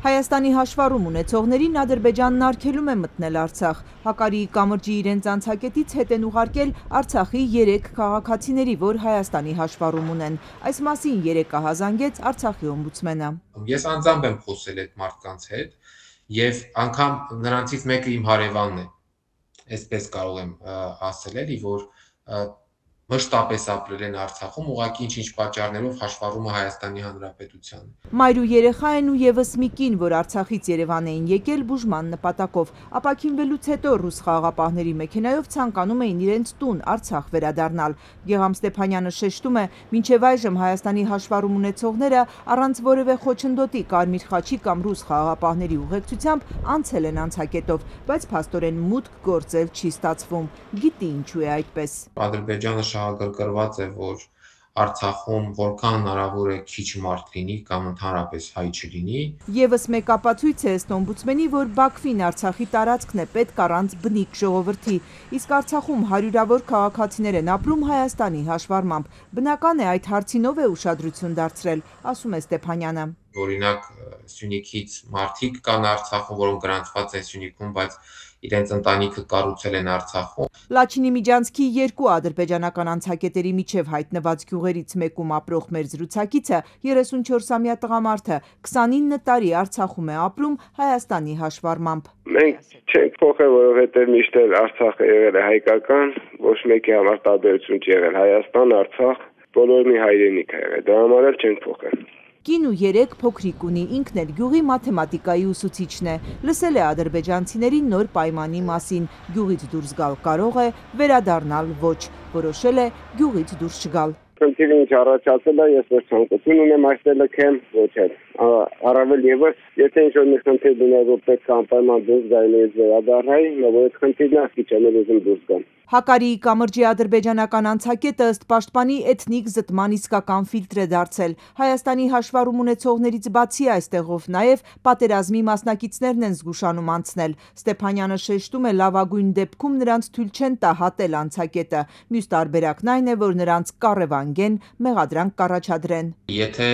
Հայաստանի հաշվառում ունեցողներին Ադրբեջանն արգելում է մտնել Արցախ։ Հակարիի կամրջի իրենց անցակետից հետ են ուղարկել Արցախի 3 քաղաքացիների, որ Հայաստանի հաշվառում ունեն։ Այս մասին երեկ ահազանգեց Արցախի օմբուդսմենը։ Ես անձամբ եմ խոսել այդ մարդկանց հետ եւ անգամ նրանցից մեկը իմ հարևանն է։ Այսպես կարող եմ ասել էլի, որ մշտապես ապրել են Արցախում, ուղղակի ինչ-ինչ պատճառներով հաշվառումը Հայաստանի Հանրապետության։ Մայր ու երեխա են ու եւս մի կին, որ Արցախից Երևան էին եկել բուժման նպատակով։ Ապաքինվելուց հետո ռուս խաղաղապահների մեքենայով ցանկանում էին իրենց տուն Արցախ վերադառնալ։ Գեգամ Ստեփանյանը շեշտում է, մինչև այժմ Հայաստանի հաշվառում ունեցողները առանց որևէ խոչընդոտի Կարմիր խաչի կամ ռուս խաղաղապահների ուղեկցությամբ անցել են անցակետով, բայց փաստորեն մուտք գործել չի ստացվում։ Գիտի ինչու է այդպես։ Ադրբեջանը շահագրգռված է, որ Արցախում որքան հնարավոր է քիչ մարդ լինի կամ ընդհանրապես հայ չլինի։ Եվս մեկ ապացույց է ըստ օմբուդսմենի, որ Բաքվին Արցախի տարածքն է պետք առանց բնիկ ժողովրդի, իսկ Արցախում հարյուրավոր քաղաքացիներ են ապրում Հայաստանի հաշվառմամբ։ Բնական է այդ հարցին ով է ուշադրություն դարձրել, ասում է Ստեփանյանը։ Օրինակ Սյունիքից մարդիկ կան Արցախում, որոնք գրանցված են Սյունիքում, բայց իրենց ընտանիքը կառուցել են Արցախում։ Լաչինի միջանցքի 2 ադրբեջանական անցակետերի միջև հայտնված գյուղերից մեկում ապրող մեր զրուցակիցը 34-ամյա տղամարդը 29 տարի Արցախում է ապրում Հայաստանի հաշվառմամբ։ Մենք չենք փոխել, որովհետև միշտ Արցախը եղել է հայկական, ոչ մեկի համար տարբերություն չի եղել։ Հայաստան, Արցախ, բոլորի հայրենիք է եղել։ Դրա համար էլ չենք փոխել։ Կին ու 3 փոքրիկ ունի, ինքն էլ գյուղի մաթեմատիկայի ուսուցիչն է։ Լսել է ադրբեջանցիների նոր պայմանի մասին։ Գյուղից դուրս գալ կարող է, վերադառնալ ոչ։ Որոշել է գյուղից դուրս չգալ։ Խնդիրը ինչ առաջացել է, ես ոչ ցանկություն ունեմ այստեղ լքեմ, ոչ էլ։ Առավել եւս, եթե ինչ-որ մի խնդիր լիներ, որ պետք է անպայման դուրս գալ եւ վերադառնալ, նոր այդ խնդիրն է, քիչ էլ ուզում դուրս գալ։ Հակարիի կամրջի ադրբեջանական անցակետը ըստ պաշտպանի էթնիկ զտման իսկական ֆիլտր է դարձել։ Հայաստանի հաշվառում ունեցողներից բացի այստեղով նաև պատերազմի մասնակիցներն են զգուշանում անցնել։ Ստեփանյանը շեշտում է, լավագույն դեպքում նրանց թույլ չեն տա հատել անցակետը։ Մյուս տարբերակն այն է, որ նրանց կառևանգեն, մեղադրանք կառաջադրեն։ Եթե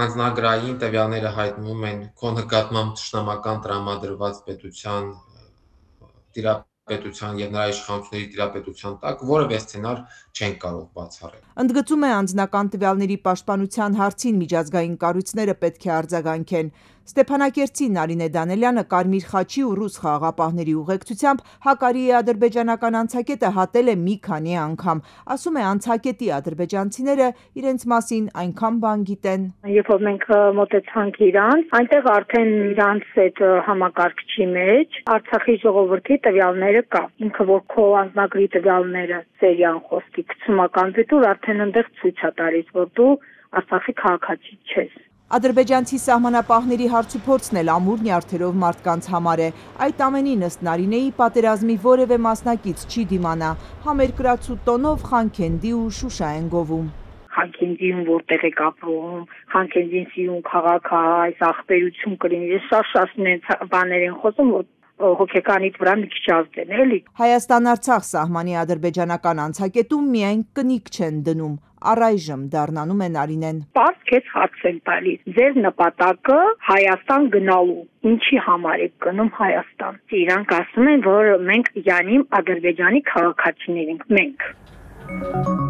անձնագրային տվյալները հայտնվում են քո նկատմամբ թշնամական տրամադրված պետության տիրապետության եւ նրա իշխանությունների տիրապետության տակ որևէ սցենար չեն կարող բացառել։ Ընդգծում է անձնական տվյալների պաշտպանության հարցին միջազգային կառույցները պետք է արձագանքեն։ Ստեփանակերտցի Նարինե Դանելյանը Կարմիր խաչի ու ռուս խաղաղապահների ուղեկցությամբ Հակարիի ադրբեջանական անցակետը հատել է մի քանի անգամ։ Ասում է, անցակետի ադրբեջանցիները իրենց մասին այնքան բան գիտեն։ Երբ որ մենք մոտեցանք իրան, այնտեղ արդեն իրանց այդ համակարգչի մեջ Արցախի ժողովրդի տվյալները կա։ Ինքը որ քո անձնագրի տվյալները սերիան խոսքի գցումական դիտուր արդեն այնտեղ ցույց է տալիս, որ դու Արցախի քաղաքացի ես։ Ադրբեջանցի սահմանապահների հարցուփորձն էլ ամուր նյարդերով մարդկանց համար է։ Այդ ամենին ըստ Նարինեի պատերազմի որևէ մասնակից չի դիմանա։ Համերկրացու տոնով Խանքենդի ու Շուշա են գովում։ Խանքենդիում որտեղ եք ապրում, Խանքենդին սիրուն քաղաք է, այս ախպերություն կլինի։ Ես շատ բաներ են խոսում, որ հոգեկանիդ վրա մի քիչ ազդեն, էլի։ Հայաստան-Արցախ սահմանի ադրբեջանական անցակետում միայն կնիկ չեն դնում, առայժմ դառնանում է Նարինեն։ Պարզ քեզ հարց են տալիս, ձեր նպատակը Հայաստան գնալու, ինչի համար եք գնում Հայաստան։ Իրանք ասում են, որ մենք յանիմ Ադրբեջանի քաղաքացիներ ենք, մենք։